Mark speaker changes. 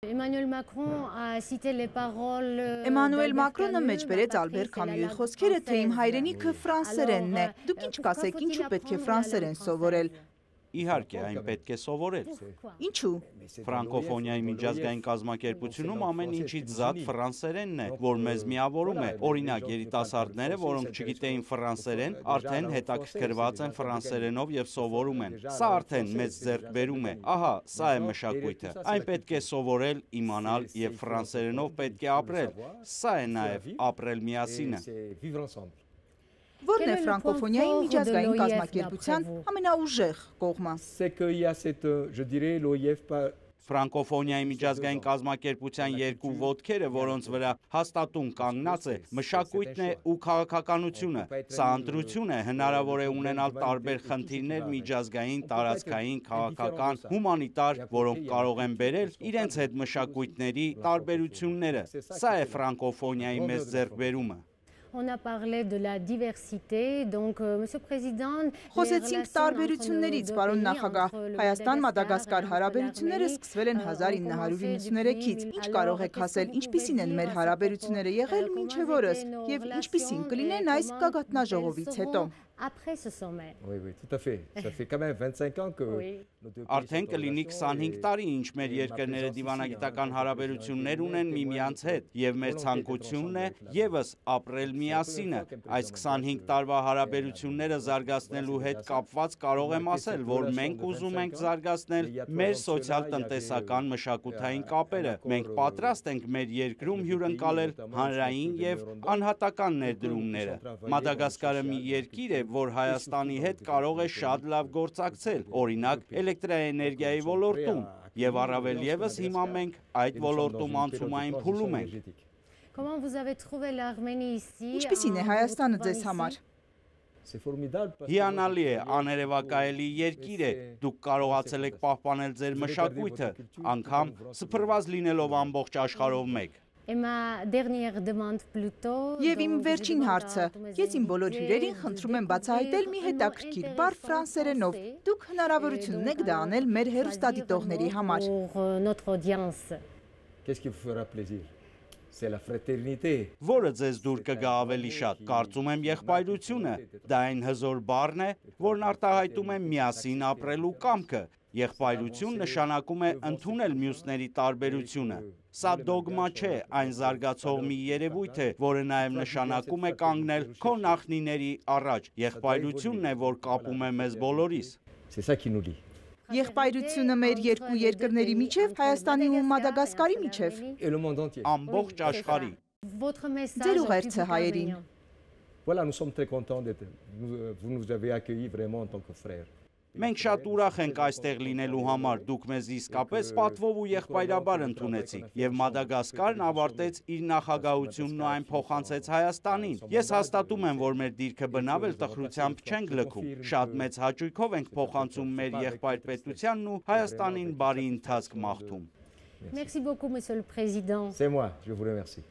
Speaker 1: Emmanuel Macron a cité les paroles
Speaker 2: Էմանուել Մակրոնը մեջ բերեց Ալբեր Քամյուի խոսքերը, թե իմ հայրենիքը ֆրանսերենն է։ Դուք ինչ կասեք, ինչու պետք է ֆրանսերեն սովորել։
Speaker 3: Իհարկե, այն պետք է սովորել։
Speaker 2: Ինչու։
Speaker 3: Ֆրանկոֆոնիայի միջազգային կազմակերպությունում ամեն ինչից զատ ֆրանսերենն է, որ մեզ միավորում է։ Օրինակ, երիտասարդները, որոնք չգիտեին ֆրանսերեն, արդեն հետաքրքրված են ֆրանսերենով եւ սովորում են։ Սա արդեն մեծ ձեռքբերում է։ Ահա, սա է մշակույթը։ Այն պետք է սովորել, իմանալ եւ ֆրանսերենով պետք է ապրել։ Սա է նաեւ ապրել միասինը։
Speaker 2: Որն է ֆրանկոֆոնիայի միջազգային կազմակերպության ամենաուժեղ կողմը։
Speaker 3: Ֆրանկոֆոնիայի միջազգային կազմակերպության երկու ոտքերը, որոնց վրա հաստատուն կանգնած է, մշակույթն է ու քաղաքականությունը։ Սա ընտրություն է, հնարավոր է ունենալ տարբեր խնդիրներ միջազգային, տարածքային, քաղաքական, հումանիտար, որոնք կարող են բերել իրենց հետ մշակույթների տարբերությունները։ Սա է ֆրանկոֆոնիայի մեծ ձեռքբերումը։
Speaker 1: On a parlé de la diversité, donc Monsieur le Président,
Speaker 2: Խոսեցինք տարբերություններից, պարոն նախագահ, Հայաստան-Մադագասկար հարաբերությունները սկսվել են 1993-ից։ Ինչ կարող եք ասել, ինչպիսին են մեր հարաբերությունները եղել մինչև օրս եւ ինչպիսին կլինեն այս գագաթնաժողովից հետո։
Speaker 1: Après ce sommet.
Speaker 4: Oui, tout à fait. Ça fait quand même 25 ans que
Speaker 3: Արդեն կլինի 25 տարի, ինչ մեր երկրները դիվանագիտական հարաբերություններ ունեն միմյանց հետ, եւ մեր ցանկությունն է եւս ապրել միասինը։ Այս 25 տարվա հարաբերությունները զարգացնելու հետ կապված կարող եմ ասել, որ մենք ուզում ենք զարգացնել մեր սոցիալ-տնտեսական մշակութային կապերը։ Մենք պատրաստ ենք մեր երկրում հյուրընկալել հանրային եւ անհատական ներդրումները։ Մադագասկարը մի երկիր է, որ Հայաստանի հետ կարող է շատ լավ գործակցել, օրինակ էլեկտրաէներգիայի ոլորտում, եւ առավել եւս հիմա մենք այդ ոլորտում անցումային փուլում ենք։
Speaker 1: Comment vous avez trouvé l'Arménie ici?
Speaker 2: Ինչպիսին է Հայաստանը ձեզ համար։
Speaker 3: Հիանալի է, աներևակայելի երկիր է, դուք կարողացել եք պահպանել ձեր մշակույթը, անգամ սփռված լինելով ամբողջ աշխարհով մեկ։
Speaker 2: Եվ իմ վերջին հարցը, ես իմ բոլոր հյուրերին խնդրում եմ բացահայտել մի հետաքրքիր բառ ֆրանսերենով։ Դուք հնարավորություն ունեք դա անել մեր հեռուստադիտողների համար։
Speaker 3: Որը ձեզ դուր կգա ավելի շատ, կարծում եմ եղբայրությունը, դա այն հզոր բառն է, որն արտահայտում է միասին ապրելու կամքը։ Եղբայրություն նշանակում է ընդունել մյուսների տարբերությունը։ Սա դոգմա չէ, այն զարգացող մի երևույթ է, որը նաև նշանակում է կանգնել քո նախնիների առաջ։ Եղբայրությունն է, որ կապում է մեզ բոլորիս։
Speaker 2: Եղբայրությունը մեր երկու երկրների միջև, Հայաստանի ու Մադագասկարի միջև։
Speaker 3: Ամբողջ աշխարհի։
Speaker 2: Ձեր ուղերձը հայերին։
Speaker 4: Voilà, nous sommes très contents d'être vous nous avez accueillis vraiment en tant que frères.
Speaker 3: Մենք շատ ուրախ ենք այստեղ լինելու համար, դուք մեզ իսկապես պատվով ու եղբայրաբար ընդունեցիք, եւ Մադագասկարն ավարտեց իր նախագահությունն ու այն փոխանցեց Հայաստանին։ Ես հաստատում եմ, որ մեր դիրքը բնավ էլ տխրությամբ չենք լքում։ Շատ մեծ հաճույքով ենք փոխանցում մեր եղբայր պետությանն ու Հայաստանին բարի ընթացք մաղթում։
Speaker 1: Merci beaucoup, Monsieur le Président.
Speaker 4: C'est moi, je vous remercie.